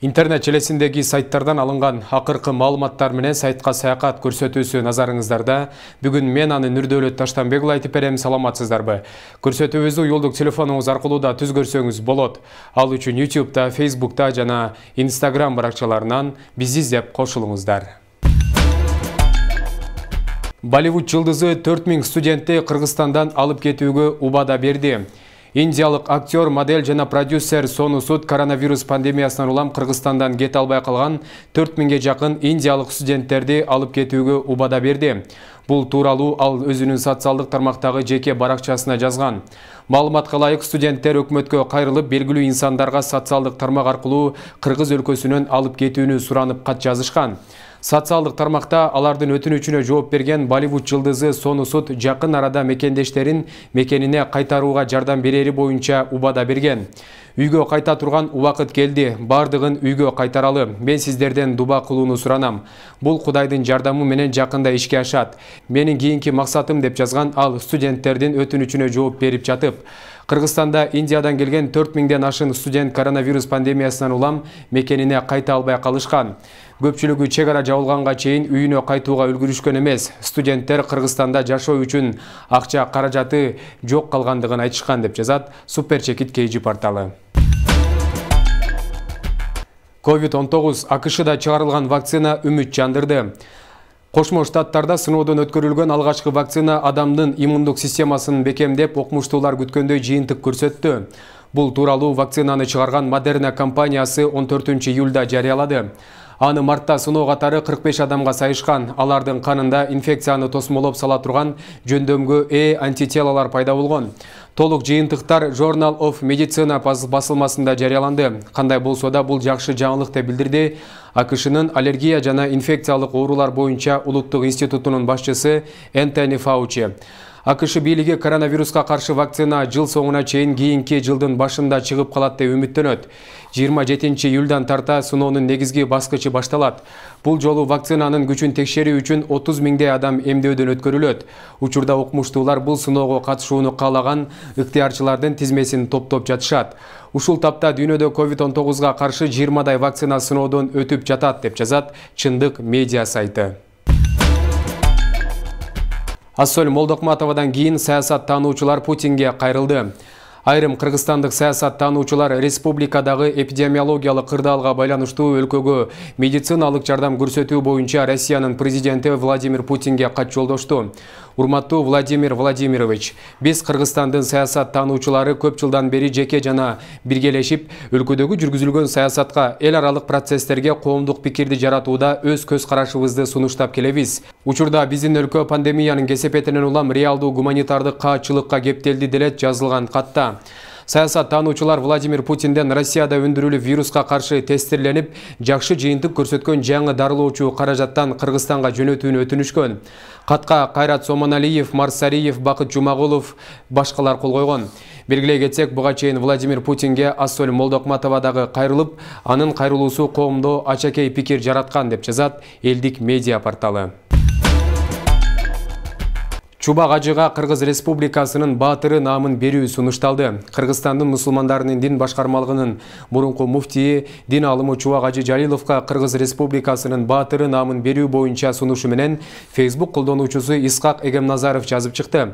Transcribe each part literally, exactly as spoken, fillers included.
Интернет желесиндеги сайттардан алынган акыркы маалыматтар менен сайтка саякат көрсөтүүсү назарыңыздарда. Бүгүн мен аны Нурдөөлөт Таштанбекұлы айтып берем, саламатсыздарбы? Көрсөтүүбүздү уюлдук телефонуңуз аркылуу да түз көрсөңүз болот. Ал үчүн ютубта, фейсбукта жана инстаграм баракчаларынан бизди издеп кошулуңуздар. Болливуд жылдызы төрт миң студентти Кыргызстандан алып кетүүгө убада берди. Индиялык актер, модель жана продюсер Сону Суд коронавирус пандемиясынан улам Кыргызстандан кете албай калган төрт миңге жакын индиялык студенттерди алып кетүүгө убада берди. Бул тууралуу ал өзүнүн социалдык тармактагы жеке баракчасына жазган. Маалыматка ылайык, студенттер өкмөткө кайрылып, белгилүү инсандарга социалдык тармак аркылуу Кыргыз өлкөсүнөн алып кетүүнү суранып кат жазышкан. Социалдык тармакта алардын өтүнүчүнө жооп берген Болливуд жылдызы Сону Суд жакын арада мекендештерин мекенине кайтарууга жардам берери боюнча убада берген. Үйгө кайта турган убакыт келди. Бардыгын үйгө кайтаралы. Мен сиздерден дуба кылууну суранам. Бул Кудайдын жардамы менен жакында ишке ашат. Менин кийинки максатым, деп жазган ал студенттердин өтүнүчүнө жооп берип жатып. Кыргызстанда Индиядан келген төрт миңден ашын студент коронавирус пандемиясынан улам мекенине кайта албай калышкан. Көпчүлүгү чек ара жабылганга чейин үйүнө кайтууга үлгүрүшкөн эмес. Студенттер Кыргызстанда жашоо үчүн акча каражаты жок калгандыгын айтышкан, деп жазат Супер Чекит Кейжи порталы. ковид он тогуз АКШда чыгарылган вакцина үмүт жандырды. Кошмо Штаттарда сыноодон өткөрүлгөн алгачкы вакцина адамдын иммундук системасын бекемдеп, окумуштуулар күткөндөй жыйынтык көрсөттү. Бул тууралуу вакцинаны чыгарган Модерна компаниясы он төртүнчү июлда жарыялады. Аны мартта сыноо катары кырк беш адамга сайышкан. Алардын канында инфекцияны тосмолоп сала турган жөндөмгө ээ антителалар пайда болгон. Толук жыйынтыктар Journal of Medicine басылмасында жарыяланды. Кандай болсо да бул жакшы жаңылык деп билдирди АКШнын аллергия жана инфекциялык оорулар боюнча улуттук институтунун башчысы Энтони Фаучи. АКШ бийлиги коронавируска каршы вакцина жыл соңуна чейин кийинки жылдын башында чыгып калат деп үмүттөнөт. жыйырма жетинчи июлдан тарта сыноонун негизги баскычы башталат. Бул жолу вакцинанын күчүн текшерүү үчүн отуз миңдей адам эмдөөдөн өткөрүлөт. Учурда окумуштуулар бул сыноого катышууну каалаган ыктыярчылардын тизмесин топтоп жатышат. Ушул тапта дүйнөдө ковид он тогузга каршы жыйырмадай вакцина сыноодон өтүп жатат, деп жазат Чындык медиа сайты. Ассоль Молдокматовадан кийин саясаттануучулар Путинге кайрылды. Айрым кыргызстандык саясаттануучулар республикадагы эпидемиологиялык кырдаалга байланыштуу өлкөгө медициналык жардам көрсөтүү боюнча Россиянын президенти Владимир Путинге кат жолдошту. Урматтуу Владимир Владимирович, биз Кыргызстандын саясаттануучулары көп жылдан бери жеке жана биргелешип, өлкөдөгү жүргүзүлгөн саясатка, эл аралык процесстерге коомдук пикирди жаратууда өз көз карашыбызды сунуштап келебиз. Учурда биздин өлкө пандемиянын кесепетинен улам реалдуу гуманитардык каатчылыкка кептелди делет жазылган катта. Саясаттануучулар Владимир Путинден Россияда өндүрүлүп вируска каршы тестирленип, жакшы жыйынтык көрсөткөн жаңы дарылоочу каражаттан Кыргызстанга жөнөтүүнү өтүнүшкөн. Катка Кайрат Сомоналиев, Марсариев, Бакыт Жумагулов башкалар кол койгон. Белгилей кетсек, буга чейин Владимир Путинге Ассоль Молдокматовадагы кайрылып, анын кайрылуусу коомдо ачакей пикир жараткан, деп жазат Элдик медиа порталы. Чубак Ажыга Кыргыз Республикасынын баатыры наамын берүү сунушталды. Кыргызстандын мусулмандарынын дин башкармалыгынын мурунку муфтии, дин алымы Чубак Ажы Жалиловго Кыргыз Республикасынын баатыры наамын берүү боюнча сунушу менен Facebook колдонуучусу Исхак Эгемназаров жазып чыкты.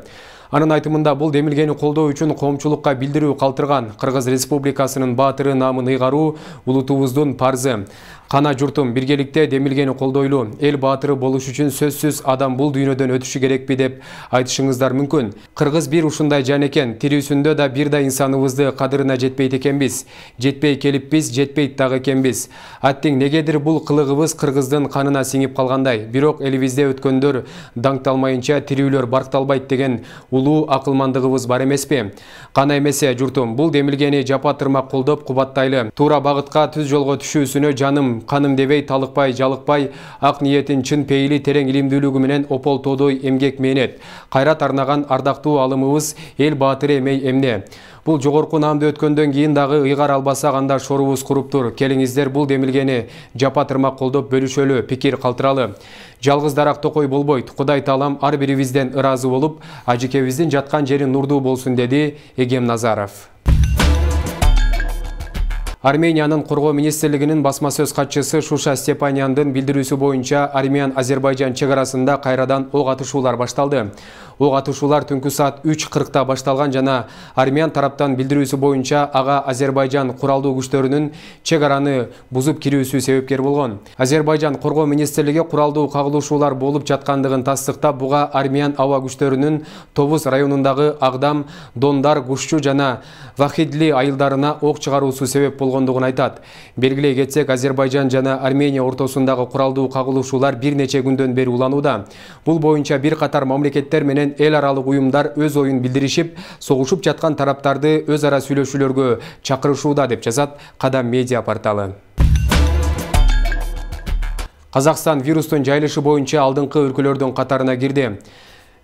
Анын айтымында бул демилгени колдоо үчүн коомчулукка билдирүү калтырган. Кыргыз Республикасынын баатыры наамын ыйгаруу улутубуздун парзы. Кана журтум, биргеликте демилгени колдойлу. Эл баатыры болуш үчүн сөзсүз адам бул дүйнөдөн өтүшү керекпи деп айтышыңыздар мүмкүн. Кыргыз бир ушундай жан экен. Тирүүсүндө да бир да инсаныбызды кадырына жетпейт экенбиз. Жетпей келиппиз, жетпейт дагы экенбиз. Аттең негедир бул кылыгыбыз кыргыздын канына сиңип калгандай. Бирок элибизде өткөндөр даңкталмайынча тирүүлөр баркталбайт деген улуу акылмандыгыбыз бар эмеспи? Кана эмесе журтум, бул демилгени жапа тырмак колдоп кубаттайлы. Туура багытка, түз жолго түшүүсүнө жаным каным дебей, талыкпай, жалыкпай, ак ниетин чын пейили, терең илимдүүлүгү менен опол тодой эмгек мээнет. Кайрат арнаган ардактуу алымыбыз эл баатыры эмей эмне? Бул жогорку наамды өткөндөн кийин дагы ыйгар албасак, анда шорубуз куруптур. Келиңиздер бул демилгени жапа тырмак колдоп бөлүшөлү, пикир калтыралы. Жалгыз дарак токой болбойт. Кудай таалам ар бирибизден ыраазы болуп, ажыкебиздин жаткан жери нурдуу болсун, деди Эгемназаров. Армениянын коргоо министрлигинин басма сөз катчысы Шуша Степанияндын билдирүүсү боюнча Армян-Азербайжан чек арасында кайрадан ок атышуулар башталды. Ок атышуулар түнкү саат үч кыркта башталган жана Армян тараптан билдирүүсү боюнча ага Азербайжан куралдуу күчтөрүнүн чек араны бузуп кирүүсү себепкер болгон. Азербайжан коргоо министрлиги куралдуу кагылышуулар болуп жаткандыгын тастыктап, буга Армян аба күчтөрүнүн Тобуз районундагы Агдам, Дондар, Гушчу жана Вахидли айылдарына ок чыгаруусу себеп болгондугун айтат. Белгилей кетсек, Азербайжан жана Армения ортосундагы куралдуу кагылышуулар бир нече күндөн бери уланууда. Бул боюнча бир катар мамлекеттер менен эл аралык уюмдар өз оюн билдиришип, согушуп жаткан тараптарды өз ара сүйлөшүүлөргө чакырышууда деп жазат Кадам медиа порталы. Казакстан вирустун жайылышы боюнча алдыңкы өлкөлөрдүн катарына кирди.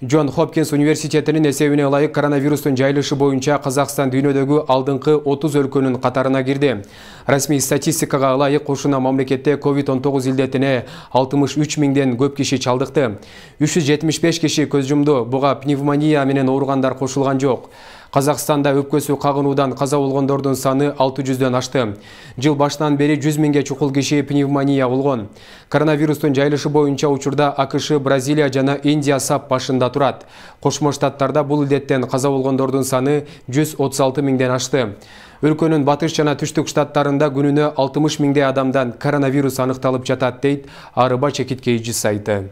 Джон Хопкинс университетинин эсебине ылайык коронавирустун жайылышы боюнча Казакстан дүйнөдөгү алдыңкы отуз өлкөнүн катарына кирди. Расмий статистикага ылайык ушуна мамлекетте ковид он тогуз илдетине алтымыш үч миңден көп киши чалдыкты. үч жүз жетимиш беш киши көз жумду. Буга пневмония менен ооругандар кошулган жок. Казакстанда өпкөсү кагынуудан каза болгондордун саны алты жүздөн ашты. Жыл башынан бери жүз миңге чукул киши пневмония болгон. Коронавирустун жайылышы боюнча учурда АКШ, Бразилия жана Индия сап башында турат. Кошмо Штаттарда бул илдеттен каза болгондордун саны жүз отуз алты миңден ашты. Өлкөнүн батыш жана түштүк штаттарында күнүнө алтымыш миңдей адамдан коронавирус аныкталып жатат, дейт Арыба чекиткейчи сайты.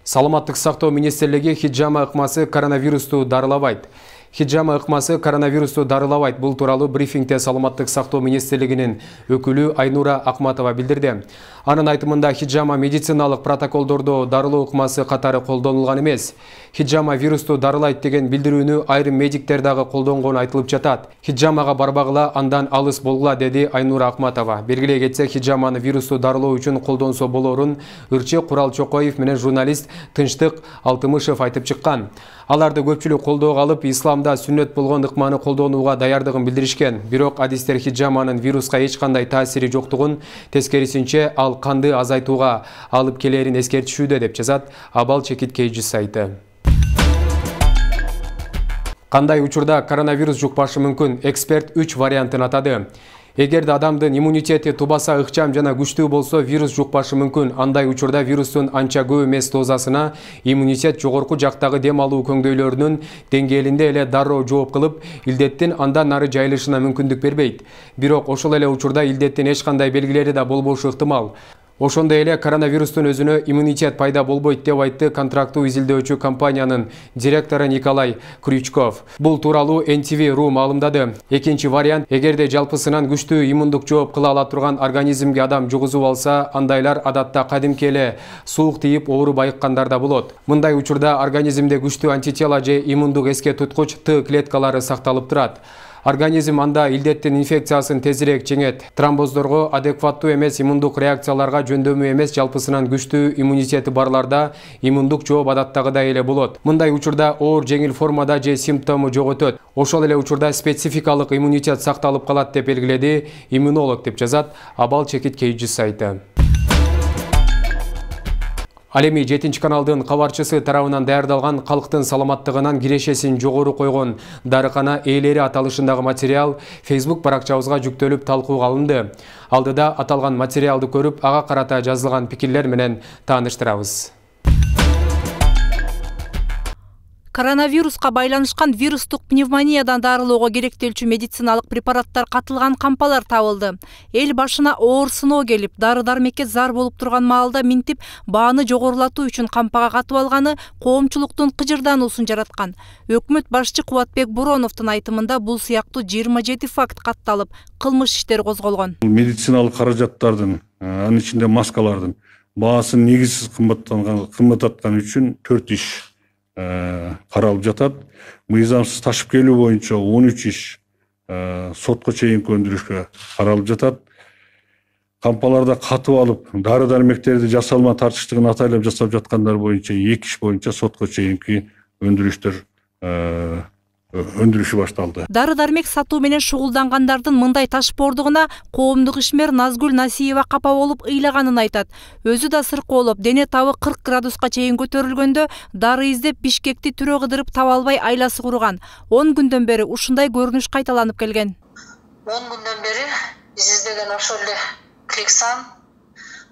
Саламаттык сактоо министрлиги хиджама ыкмасы коронавирусту дарылабайт. Хиджама ыкмасы коронавирусту дарылабайт. Бул тууралуу брифингде Саламаттык сактоо министрлигинин өкүлү Айнура Акматова билдирди. Анын айтымында хиджама медициналык протоколдордо дарылоо ыкмасы катары колдонулган эмес. Хиджама вирусту дарылайт деген билдирүүнү айрым медиктер дагы колдонгону айтылып жатат. Хиджамага барбагыла, андан алыс болгула, деди Айнура Акматова. Белгилей кетсек, хиджаманы вирусту дарылоо үчүн колдонсо болорун Ырчы Курал Чокоев менен журналист Тынчтык Алтымышев айтып чыккан. Аларды көпчүлүк колдоого алып, исламда сүннөт болгон ыкманы колдонууга даярдыгын билдиришкен. Бирок адистер хиджаманын вируска эч кандай таасири жоктугун, тескерисинче ал канды азайтууга алып келерин эскертишүүдө, деп жазат Абал чекиткейчи сайты. Кандай учурда коронавирус жукпашы мүмкүн? Эксперт үч вариантын атады. Эгерде адамдын иммунитети тубаса ыкчам жана күчтүү болсо, вирус жукпашы мүмкүн. Андай учурда вирустун анча көп эмес дозасына иммунитет жогорку жактагы дем алуу көңдөйлөрүнүн деңгээлинде эле дароо жооп кылып, илдеттин андан нары жайылышына мүмкүндүк бербейт. Бирок ошол эле учурда илдеттин эч кандай белгилери да болбошу ыктымал. Ошондой эле коронавирустун өзүнө иммунитет пайда болбойт, деп айтты контрактуу изилдөөчү компаниянын директору Николай Крючков. Бул тууралуу эн ти ви ру маалымдады. Экинчи вариант, эгерде жалпысынан күчтүү иммундук жооп кыла ала турган организмге адам жугузуп алса, андайлар адатта кадимки эле суук тийип ооруп айыккандар да болот. Мындай учурда организмде күчтүү антитела же иммундук эске туткуч Т клеткалары сакталып турат. Организм анда илдеттин инфекциясын тезирээк жеңет. Тромбоздорго адекваттуу эмес иммундук реакцияларга жөндөмү эмес жалпысынан күчтүү иммунитети барларда иммундук жооп адаттагыдай эле болот. Мындай учурда оор жеңил формада же симптому жок өтөт. Ошол эле учурда спецификалык иммунитет сакталып калат, деп белгиледи иммунолог, деп жазат Абал чекиткейчи сайты. Ал эми жетинчи каналдын кабарчысы тарабынан даярдалган калктын саламаттыгынан кирешесин жогору койгон дарыкана ээлери аталышындагы материал Facebook баракчабызга жүктөлүп талкууга алынды. Алдыда аталган материалды көрүп, ага карата жазылган пикирлер менен тааныштырабыз. Коронавируска байланышкан вирустук пневмониядан дарылоого керектелчү медициналык препараттар катылган кампалар табылды. Эл башына оор сыноо келип, дары-дармекке зар болуп турган маалда минтип, бааны жогорулатуу үчүн кампага катып алганы коомчулуктун кыжырдануусун жараткан. Өкмөт башчы Кубатбек Буроновдун айтымында бул сыяктуу жыйырма жети факт катталып, кылмыш иштери козголгон. Медициналык каражаттардын, анын ичинде маскалардын баасын негизсиз кымбаттаткан үчүн төрт иш каралып жатат. Мыйзамсыз ташып келүү боюнча он үч иш сотко чейинки өндүрүшкө каралып жатат. Кампаларда катып алып, дары-дармектерди жасалма тартыштыгын атайлап жасап жаткандар боюнча эки иш боюнча сотко чейинки өндүрүштөр өндүрүшү башталды. Дары-дармек сатуу менен шугулдангандардын мындай ташпоордугуна коомдук ишмер Назгүл Насиева капа болуп ыйлаганын айтат. Өзү да сыркоолоп, дене табы кырк градуска чейин көтөрүлгөндө дары издеп Бишкекти түрө кыдырып таба албай айласы курган. он күндөн бери ушундай көрүнүш кайталанып келген. он күндөн бери биз издеген ошол эле Клексан,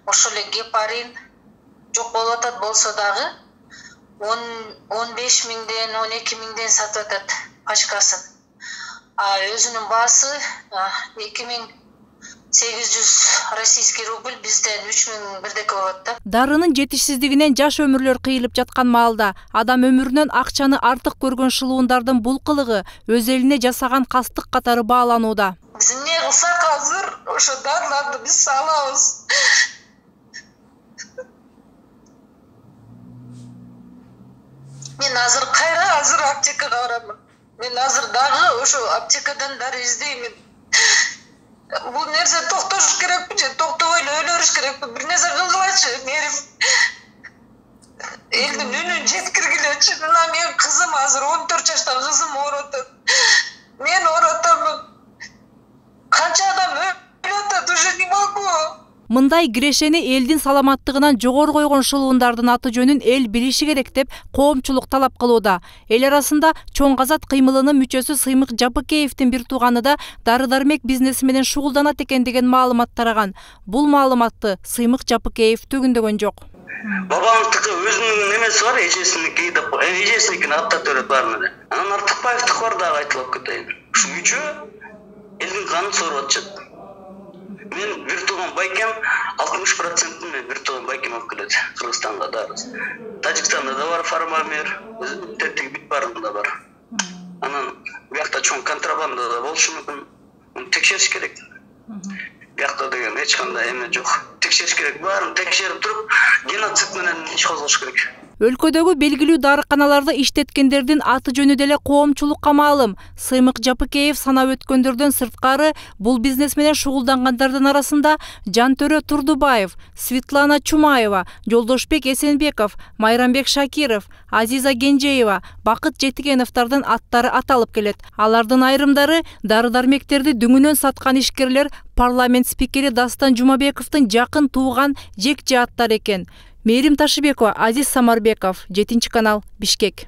ошол эле гепарин жок болуп атат болсо дагы он беш миңден он эки миңден сатып атат пачкасын. А өзүнүн баасы эки миң сегиз жүз российский рубль, бизден үч миң бирдеке болот да. Дарынын жетишсиздигинен жаш өмүрлөр кыйылып жаткан маалда адам өмүрүнөн акчаны артык көргөн шылуундардын бул кылыгы өз элине жасаган кастык катары бааланууда. Биз эмне кылсак азыр ошо дарыларды биз салабыз. Мен азыр кайра азыр аптекага барамын. Мен азыр дагы ошо аптекадан дары издеймин. Бул нерсе токтош керекпи же токтобой эле өлөрүш керекпи? Бир нерсе кылгылачы, мээрим. Элдин үнүн жеткиргилечи. Мына менин кызым азыр он төрт жашта кызым ооруп атат. Мен ооруп атамын. Канча адам өлүп атат, уже не могу. Мындай кирешени элдин саламаттыгынан жогору койгон шылуундардын аты жөнүн эл билиши керек деп коомчулук талап кылууда. Эл арасында Чоң Казат кыймылынын мүчөсү Сыймык Жапыкеевдин бир тууганы да дары-дармек бизнеси менен шугулданат экен деген маалымат тараган. Бул маалыматты Сыймык Жапыкеев төгүндөгөн жок. Бабамдыкы өзүнүн немеси бар, эжесиники деп, эжесиникин аттап берет баарына. Анан Артыкбаевдики бар дагы айтылып кетейин. Ушу үчөө элдин канын сооруп атышат. Мен бир тууган байкем алтымыш процентин мен бир тууган байкем алып келет Кыргызстанга дары. Тажикстанда да бар фармамер, тетиги бит барында бар. Анан биякта чоң контрабанда да болушу мүмкүн. Муну текшериш керек. Биякта деген эч кандай эме жок. Текшериш керек, баарын текшерип туруп, геноцид менен иш козгош керек. Өлкөдөгү белгилүү дарыканаларды иштеткендердин аты жөнү деле коомчулукка маалым. Сыймык Жапыкеев санап өткөндөрдөн сырткары бул бизнес менен шугулдангандардын арасында Жантөрө Турдубаев, Светлана Чумаева, Жолдошбек Эсенбеков, Майрамбек Шакиров, Азиза Генжеева, Бакыт Жетигеновдордун аттары аталып келет. Алардын айрымдары дары-дармектерди дүңүнөн саткан ишкерлер парламент спикери Дастан Жумабековдун жакын тууган жек жааттар экен. Мээрим Ташыбекова, Азиз Самарбеков, жетинчи канал, Бишкек.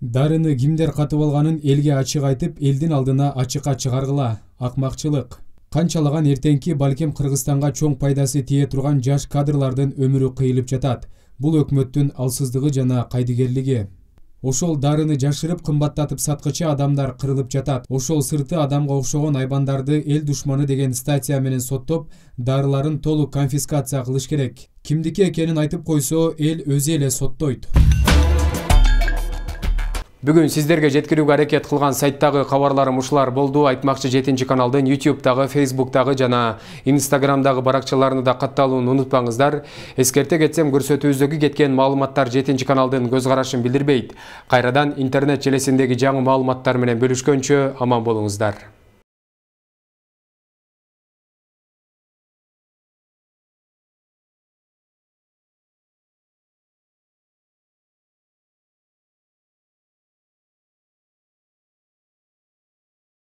Дарыны кимдер катып алганын элге ачык айтып, элдин алдына ачыкка чыгаргыла. Акмакчылык. Канчалаган эртеңки балким Кыргызстанга чоң пайдасы тие турган жаш кадрлардын өмүрү кыйылып жатат. Бул өкмөттүн алсыздыгы жана кайдыгерлиги. Ошол дарыны жашырып кымбаттатып саткычы адамдар кырылып жатат. Ошол сырты адамга окшогон айбандарды эл душманы деген статья менен соттоп, дарыларын толук конфискация кылыш керек. Кимдики экенин айтып койсо, эл өзү эле соттойт. Бүгүн сиздерге жеткирүүгө аракет кылган сайттагы кабарларым ушулар болду. Айтмакчы жетинчи каналдын ютубтагы, фейсбуктагы жана инстаграмдагы баракчаларына да катталууну унутпаңыздар. Эскерте кетсем, көрсөтүүбүздөгү кеткен маалыматтар жетинчи каналдын көз карашын билдирбейт. Кайрадан интернет желесиндеги жаңы маалыматтар менен бөлүшкөнчө аман болуңуздар.